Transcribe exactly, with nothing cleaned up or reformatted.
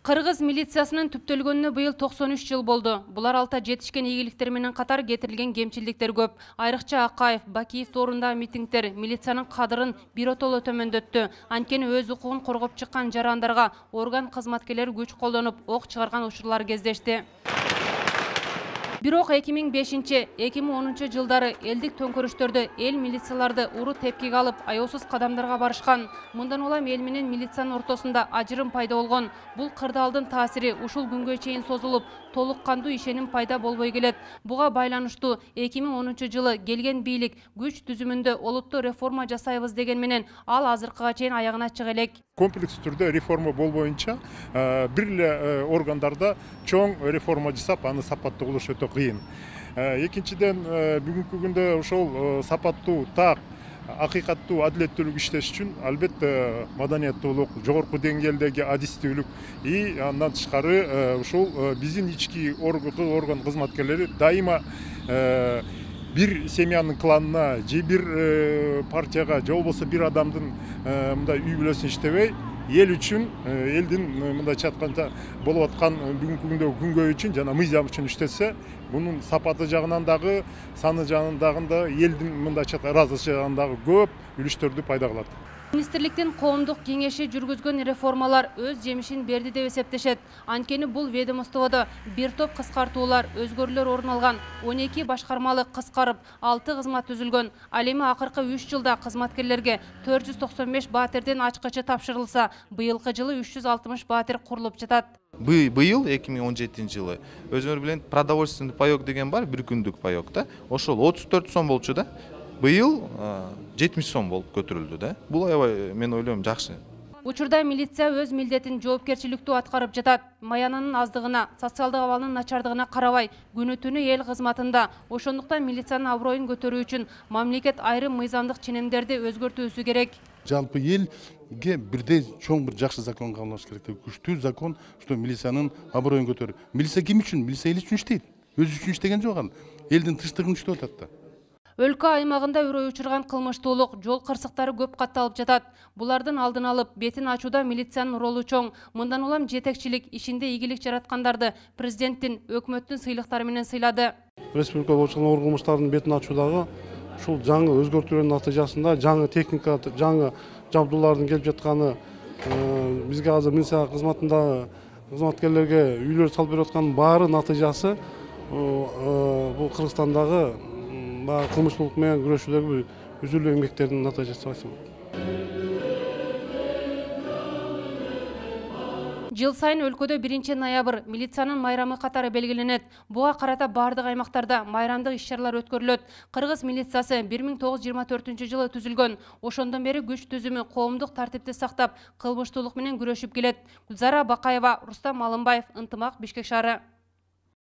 Кыргыз милициясынын түптөлгөнүнө быйыл токсон үч жыл болду. Булар алта жетишкен ийгиликтер менен катар кетирилген кемчилдиктер көп. Айрыкча Акаев, Бакиев тоорундагы митингдер милициянын кадырын биротоло төмөндөттү. Анткени өз укугун коргоп чыккан жарандарга орган кызматкерлери күч колдонуп, ок чыгарган учурлар кездешти. Бирок эки миң бешинчи — эки миң онунчу жылдары элдик төңкөрүштөрдө эл милицияларды уру тепкиге алып, аяосуз кадамдарга барышкан. Мындан улам эл менен милициянын ортосунда ажырым пайда болгон. Бул кырдаалдын таасири ушул күнгө чейин созулуп, толук кандуу ишеним пайда болбой келет. Буга байланыштуу эки миң онунчу жылы келген бийлик күч түзүмүндө олуттуу реформа жасайбыз деген менен ал азыркыга чейин аягына чыга элек. Комплекс түрдө реформа болбоюнча бир эле органдарда чоң реформа жасап, аны сапаттуу кылыш өтө кыйын. Экинчиден, бүгүнкү күндө ошол сапаттуу, так, акыйкаттуу, адилеттүүлүк иштеш үчүн албетте маданияттуулук, жогорку деңгээлдеги адистүүлүк и андан тышкары ушул биздин ички орган кызматкерлери дайыма бир семьянын кланына же бир партияга же болбосо бир адамдын мындай үй бүлөсүн иштебей, эл үчүн, элдин мындайча айтканда болуп аткан бүгүнкү күндөгү күнгөй үчүн жана мыйзам үчүн иштесе, бунун сапаты жагынан дагы, саны жагынан да элдин мындайча ыраазычы жагынан дагы көп үлүштөрдү пайда кылат. Министрликтин коомдук кеңеши жүргүзгөн реформалар өз жемишин берди деп эсептешет. Анткени бул ведомстводо бир топ кыскартуулар, өзгөрүүлөр орун алган, он эки башкармалык кыскарып, алты кызмат түзүлгөн. Ал эми акыркы үч жылда кызматкерлерге төрт жүз токсон беш баатирдин ачкычы тапшырылса, быйылкы жылы үч жүз алтымыш баатир курулуп жатат. Быйыл эки миң он жетинчи жылы өзүңөр билет продовольственный паёк деген бар, бир күндүк паёк да. Ошол отуз төрт сом болчу да. Быйыл жетимиш сом болуп көтөрүлдү да. Бул аябай, мен ойлойм, жакшы. Учурда милиция өз милдетин жоопкерчиликтүү аткарып жатат. Маянанын аздыгына, социалдык абалынын начардыгына карабай, күнү түнү эл кызматында. Ошондуктан милициянын аброюн көтөрүү үчүн мамлекет айрым мыйзамдык ченемдерди өзгөртүүсү керек. Жалпы элге бирдей чоң бир жакшы закон кабылдаш керек. Күчтүү закон, что милициянын аброюн көтөрүү. Милиция ким үчүн? Милиция эл үчүн иштейт. Өзү үчүн иштеген жок ал. Элдин тынчтыгын иштеп атат да. Өлкө аймагында үрөй учурган кылмыштуулук, жол кырсыктары көп катталып жатат. Булардын алдын алып, бетин ачууда милициянын ролу чоң. Мындан улам жетекчилик, ишинде ийгилик жараткандарды президенттин, өкмөттүн сыйлыктары менен сыйлады. Республика боюнча оор кылмыштардын бетин ачуудагы ушул жаңы өзгөртүүлөрдүн натыйжасында жаңы техника, жаңы жабдуулардын келип жатканы, бизге азыр милиция кызматындагы кызматкерлерге үйлөр салып берип атканын баары натыйжасы бул Кыргызстандагы кылмыштуулук менен күрөшүүдөгү үзүлүү эмгектердин натыйжасы деп айтсам. Жыл сайын өлкөдө биринчи ноябрь милициянын майрамы катары белгиленет. Буга карата бардык аймактарда майрамдык иш-чаралар өткөрүлөт. Кыргыз милициясы бир миң тогуз жүз жыйырма төртүнчү жылы түзүлгөн. Ошондон бери күч түзүмү коомдук тартипти сактап, кылмыштуулук менен күрөшүп келет. Гүлзара Бакаева, Рустам Малымбаев, Ынтымак, Бишкек шаары.